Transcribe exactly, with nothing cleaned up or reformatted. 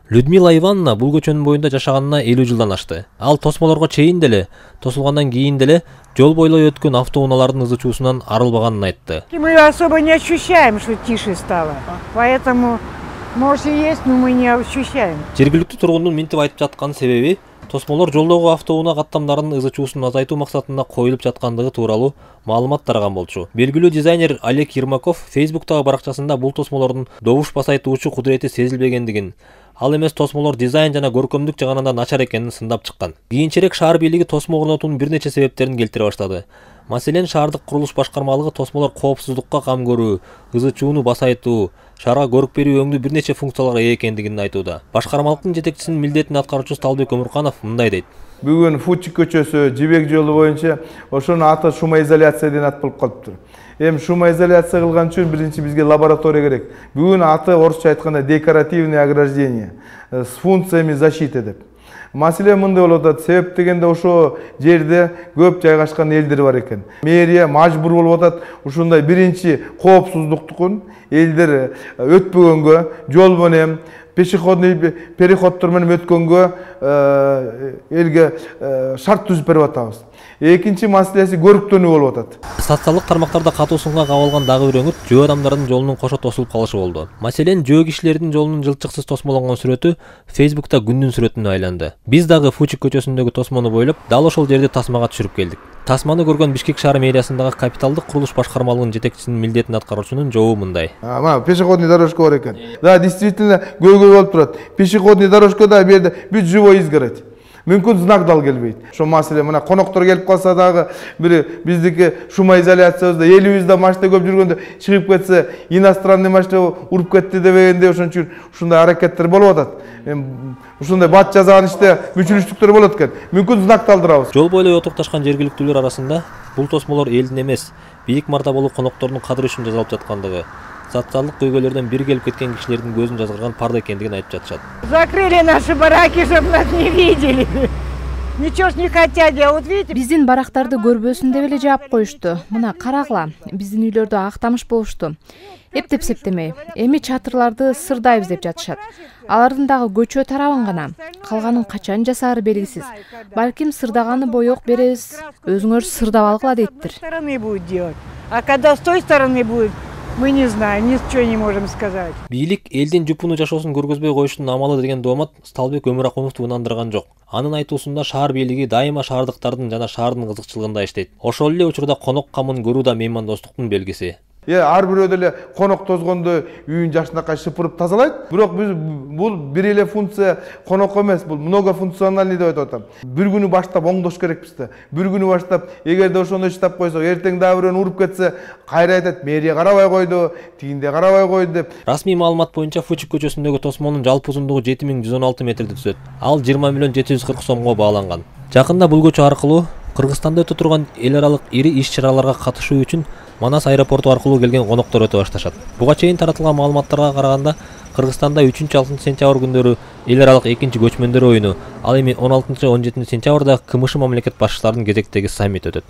Людмила Ивановна бул көчөнүн боюнда жашаганына элүү жылдан ашты. Ал тосмолорго чейин деле, тосулгандан кийин деле жол бойлой өткөн автоунаалардын ызы чуусунан арылбаганын айтты. Мы особо не ощущаем, что тише стало. Поэтому, может и есть, но мы не ощущаем. Жергиликтүү тургундун минтип айтып жаткан себеби тосмолор жолдогу автоунаа каттамдарынын ызы чуусун азайтуу максатында коюлуп жаткандыгы тууралуу маалымат тараган болчу. Белгилүү дизайнер Олег Ермаков Фейсбуктагы баракчасында бул тосмолордун добуш басайтуучу кудурети сезилбегендигин, ал эмес тосмолор дизайн жана көркөмдүк жагынан начар экенин сындап чыккан. Кийинчерээк шаар бийлиги тосмо орнотуунун бир нече себептерин келтире баштады. Маселен, шаардык курулуш башкармалыгы тосмолор коопсуздукка кам көрүү, ызы чууну басайтуу, шаарга көрүк берүү өңдүү бир нече функцияларга ээ экендигин айтууда. Башкармалыктын жетекчисинин милдетин аткаруучусу Талбек Өмүрканов мындай дейт. Бүгүн Фучик көчөсү, Жибек жолу боюнча ошонун аты шумоизоляция деген ат болуп калыптыр. Эми шумоизоляция кылган үчүн биринчи бизге лаборатория керек. Бүгүн аты орусча айтканда декоративный ограждение с функциями защиты деп. Маселе мындай болуп атат. Себеп дегенде ошо жерде көп жайгашкан элдер бар экен. Мэрия мажбур болуп атат ушундай биринчи коопсуздуктукун элдер өтпөгөнгө, жол менен пешеходный переходдор менен өткөнгө элге шарт түзүп берип атабыз. Экинчи маселеси көрүктөнүү болуп атат. Социалдык тармактарда катуу сынга кабылган дагы бир өңүт жөө адамдардын жолунун кошо тосулуп калышы болду. Маселен, жөө кишилердин жолунун жылчыксыз тосмолонгон сүрөтү Фейсбукта күндүн сүрөтүнө айланды. Биз дагы Фучик көчөсүндөгү тосмону бойлоп, дал ошол жерде тасмага түшүрүп келдик. Тасманы көргөн Бишкек шаар мэриясындагы капиталдык курулуш башкармалыгынын жетекчисинин милдетин аткаруучунун жообу мындай. Мына пешеходный дорожка бар экен. Да, действительно көйгөй болуп турат. Пешеходный дорожкада бу жерде бүт живой изгородь. Мүмкүн знак дал келбейт. Ошо маселе мына коноктор келип калса дагы бир биздики шумоизоляциябызда элибизде машина көп жүргөндө чыгып кетсе, иностранный машина уруп кетти дебегенде ошон үчүн ушундай аракеттер болуп атат. Эми ушундай бат жазган иште мүчүлүштүктөр болот экен. Мүмкүн знак талдырабыз. Жол бойлой отурукташкан жергиликтүүлөр арасында бул тосмолор элдин эмес, бийик мартабалуу коноктордун кадыры үчүн жасалып жаткандыгы, социалдык көйгөйлөрдөн бири келип кеткен кишилердин көзүн жазгырган парда экендигин айтып жатышат. Закрыли наши бараки, чтобы нас не видели. Ничего ж не хотят делать, видите? Биздин барактарды көрбөсүн деп эле жаап коюшту. Мына карагыла, биздин үйлөрдө актамыш болушту. Эптеп септемей, эми чатырларды сырдайбыз деп жатышат. Алардын дагы көчө тарабын гана, калганын качан жасаары белгисиз. Балким сырдаганы боек беребиз, өзүңөр сырдап алгыла дейттир. Стороны будет делать. А когда с той стороны будет, мы не знаем, ничего не можем сказать. Бийлик элдин жупуну жашоосун көргөзбөй коюштун амалы деген доомат Талбек Өмүракуновду ынандырган жок. Анын айтуусунда шаар бийлиги дайыма шаардыктардын жана шаардын кызыкчылыгында иштейт. Ошол эле учурда конок камын көрүү да меймандостуктун белгиси. Е, ар бирөө деле конок тозгондо үйүн жакшынакай шыпырып тазалайт. Бирок биз бул бир эле функция конок эмес, бул многофункциональный деп айтып атам. Бир күнү баштап оңдош керекпиз да. Бир күнү баштап, эгерде ошондой иштеп койсок, эртең дагы бирөөнү уруп кетсе, кайра айтат, мэрия карабай койду, тигинде карабай койду деп. Расмий маалымат боюнча Фучик көчөсүндөгү тосмонун жалпы узундугу жети миң жүз он алты метрди түзөт. Ал жыйырма миллион жети жүз кырк сомго бааланган. Жакында бул көчө аркылуу Кыргызстанда өтө турган эл аралык ири иш-чараларга катышуу үчүн Манас аэропорту аркылуу келген коноктор өтө башташат. Буга чейин таратылган маалыматтарга караганда, Кыргызстанда үчүнчү алтынчы сентябрь күндөрү эл аралык экинчи көчмөндөр оюну, ал эми он алтынчы он жетинчи сентябрда КМШ мамлекет башчыларынын кезектеги саммит өтөт.